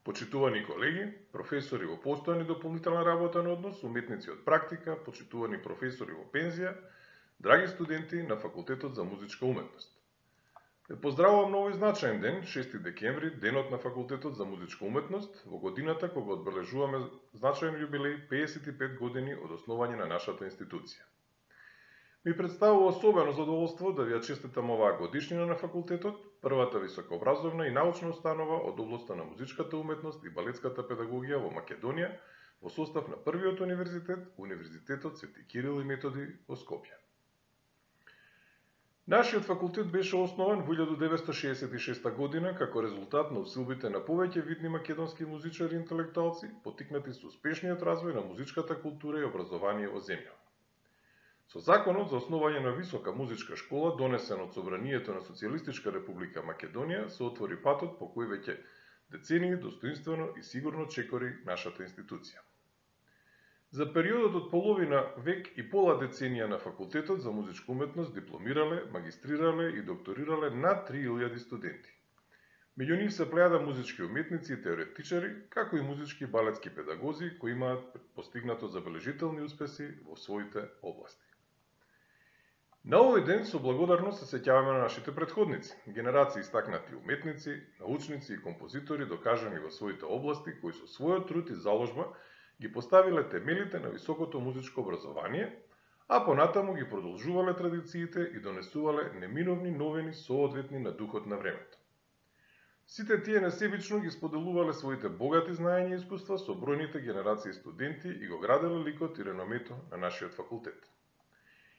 Почитувани колеги, професори во постојана и дополнителна работен однос, уметници од практика, почитувани професори во пензија, драги студенти на Факултетот за музичка уметност. Ве поздравувам на овој значаен ден, 6 декември, денот на Факултетот за музичка уметност, во годината кога одбележуваме значаен јубилеј 55 години од основање на нашата институција. Ми представува особено задоволство да ви ја честитам оваа годишнина на факултетот, првата високообразовна и научна установа од областа на музичката уметност и балетската педагогија во Македонија, во состав на првиот универзитет, Универзитетот Свети Кирил и Методи во Скопје. Нашиот факултет беше основан во 1966 година како резултат на усилбите на повеќе видни македонски музичари и интелектуалци, поттикнати со успешниот развој на музичката култура и образование во земјава. Со законот за основање на висока музичка школа, донесен од Собранието на Социјалистичка република Македонија, се отвори патот по кој веќе децении достоинствено и сигурно чекори нашата институција. За периодот од половина век и пола деценија на Факултетот за музичка уметност дипломирале, магистрирале и докторирале над 3000 студенти. Меѓу нив се плејада музички уметници и теоретичари, како и музички балетски педагози кои имаат постигнато забележителни успеси во своите области. На овој ден со благодарност се сеќаваме на нашите претходници, генерации истакнати уметници, научници и композитори докажани во своите области, кои со својот труд и заложба ги поставиле темелите на високото музичко образование, а понатаму ги продолжувале традициите и донесувале неминовни новини соодветни на духот на времето. Сите тие несебично ги споделувале своите богати знаења и искуства со бројните генерации студенти и го граделе ликот и реномето на нашиот факултет.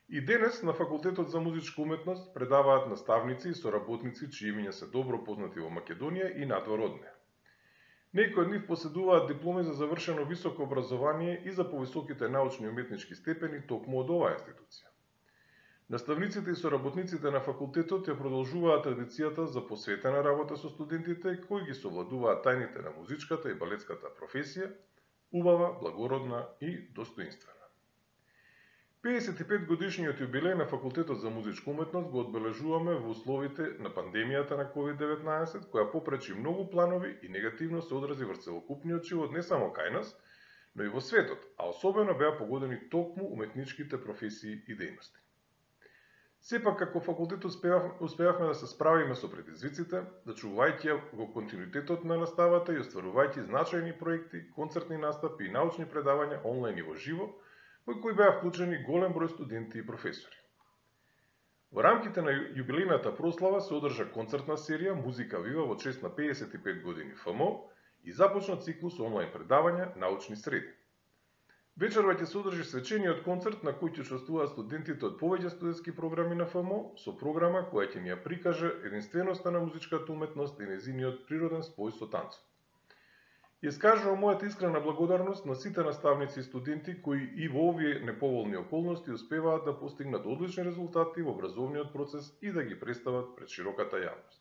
И денес на Факултетот за музичка уметност предаваат наставници и соработници чии имиња се добро познати во Македонија и надвор од неа. Некои од нив поседуваат дипломи за завршено високо образование и за повисоките научни и уметнички степени токму од оваа институција. Наставниците и соработниците на факултетот ја продолжуваат традицијата за посветена работа со студентите кои ги совладуваат тајните на музичката и балетската професија, убава, благородна и достоинствена. 55 годишниот јубилеј на Факултетот за музичка уметност го одбележуваме во условите на пандемијата на COVID-19, која попречи многу планови и негативно се одрази врз целокупниот живот не само кај нас, но и во светот, а особено беа погодени токму уметничките професии и дејности. Сепак, како факултет успеавме да се справиме со предизвиците, да чувајќи го континуитетот на наставата и остварувајќи значајни проекти, концертни настапи и научни предавања онлайн и во живо, во кои беа вклучени голем број студенти и професори. Во рамките на јубилејната прослава се одржа концертна серија Музика вива во чест на 55 години ФМО и започна циклус онлайн предавања Научни среди. Вечерва ќе се одржи свечениот концерт на кој ќе учествуваат студентите од повеќе студентски програми на ФМО со програма која ќе ни ја прикаже единственоста на музичката уметност и нејзиниот природен спој со танцот. Искажувам мојата искрена благодарност на сите наставници и студенти кои и во овие неповолни околности успеваат да постигнат одлични резултати во образовниот процес и да ги представат пред широката јавност.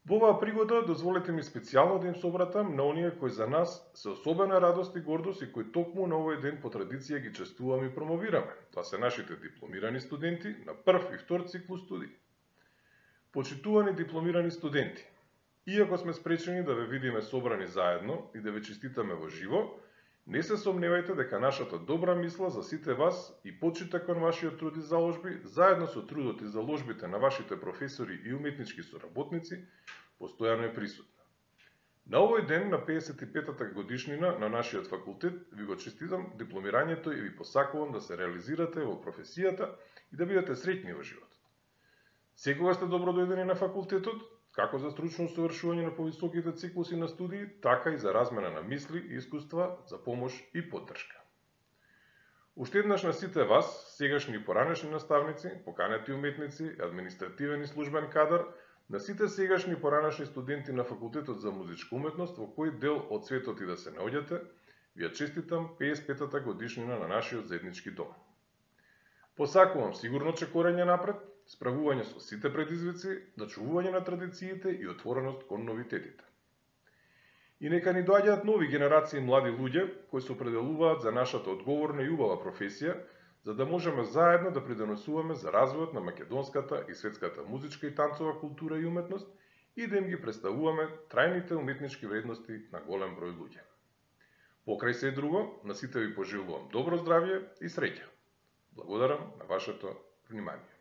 Во оваа пригода дозволете ми специјално да им собратам на оние кои за нас се особена радост и гордост и кои токму на овој ден по традиција ги честуваме и промовираме. Тоа се нашите дипломирани студенти на прв и втор циклус студии. Почитувани дипломирани студенти, иако сме спречени да ве видиме собрани заедно и да ве честитаме во живо, не се сомневајте дека нашата добра мисла за сите вас и почита кон вашиот труд и заложби, заедно со трудот и заложбите на вашите професори и уметнички соработници, постојано е присутна. На овој ден, на 55-та годишнина на нашиот факултет, ви го честитам дипломирањето и ви посакувам да се реализирате во професијата и да бидете среќни во животот. Секогаш сте добро дојдени на факултетот, како за стручно усовршување на повисоките циклуси на студии, така и за размена на мисли и искуства, за помош и поддршка. Уште еднаш на сите вас, сегашни и поранешни наставници, поканети уметници, административен и службен кадар, на сите сегашни и поранешни студенти на Факултетот за музичка уметност, во кој дел од светот и да се наоѓате, ви ја честитам 55-та годишнина на нашиот заеднички дом. Посакувам сигурно чекорење напред, справување со сите предизвици, дочувување на традициите и отвореност кон новитетите. И нека ни доаѓаат нови генерации млади луѓе кои се определуваат за нашата одговорна и убава професија, за да можеме заедно да придонесуваме за развојот на македонската и светската музичка и танцова култура и уметност и да им ги представуваме трајните уметнички вредности на голем број луѓе. Покрај се друго, на сите ви пожелувам добро здравје и среќа. Благодарам на вашето внимание.